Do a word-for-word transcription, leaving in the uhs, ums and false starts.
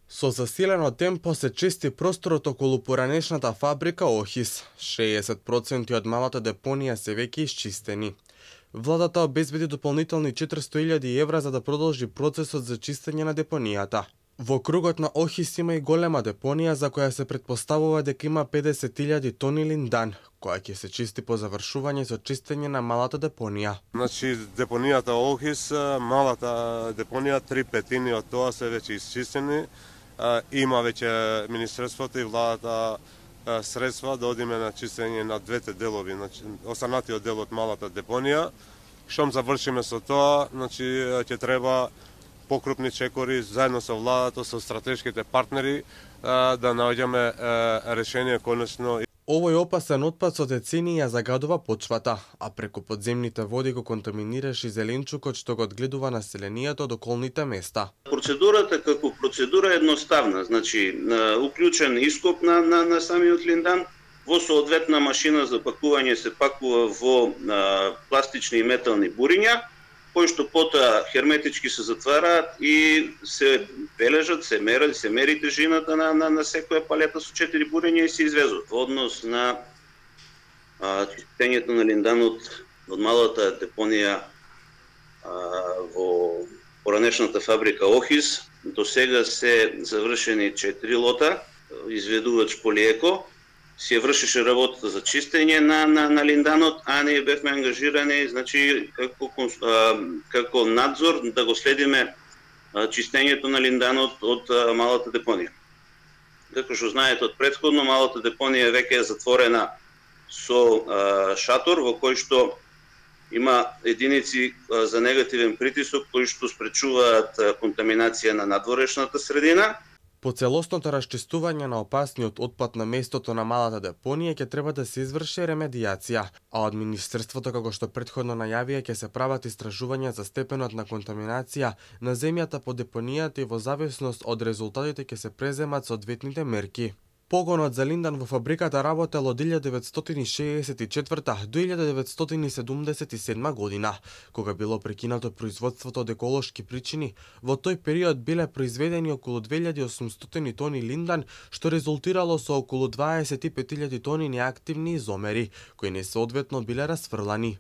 Со засилено темпо се чисти просторот околу поранешната фабрика Охис. шеесет проценти од малата депонија се веќе исчистени. Владата обезбеди дополнителни четиристо илјади евра за да продолжи процесот за чистење на депонијата. Во кругот на Охис има и голема депонија за која се претпоставува дека има педесет илјади тони линдан, која ќе се чисти по завршување со чистење на малата депонија. Значи депонијата Охис, малата депонија, три петини од тоа се веќе исчистени. Има веќе министерството и владата средства да одиме на чистење на двете делови, значи останатиот дел од малата депонија. Штом завршиме со тоа, значи ќе треба покрупни чекори заедно со владата, со стратешките партнери да наоѓаме решение конечно. Овој опасен отпад со децении ја загадува почвата, а преку подземните води го контаминираш и зеленчукот што го одгледува населението од околните места. Процедурата како процедура е едноставна, значи уклучен ископ на, на, на самиот линдан, во соодветна машина за пакување се пакува во а, пластични и метални буриња, кои што потоа херметички се затвараат и се бележат, се мери, се мери тежината на, на, на секоја палета со четири бурења и се извезува. Во однос на а, чистењето на линданот од малата депонија а, во поранешната фабрика Охис, до сега се завршени четири лота, изведувач Полиеко, се вршеше работата за чистење на, на, на линданот, а ние бевме ангажирани, значи, како, а, како надзор да го следиме а, чистењето на линданот од а, малата депонија. Како што знаете од претходно, малата депонија веќе е затворена со а, шатор во кој што има единици а, за негативен притисок кои што спречуваат а, контаминација на надворешната средина. По целосното расчистување на опасниот отпад на местото на малата депонија ќе треба да се изврши ремедијација, а од Министерството, како што претходно најавија, ќе се прават истражувања за степенот на контаминација на земјата по депонијата и во зависност од резултатите ќе се преземат соодветните мерки. Погонот за линдан во фабриката работел од илјада деветстотини шеесет и четврта до илјада деветстотини седумдесет и седма година, кога било прекинато производството од еколошки причини. Во тој период биле произведени околу две илјади и осумстотини тони линдан, што резултирало со околу дваесет и пет илјади тони неактивни изомери, кои несоодветно биле расфрлани.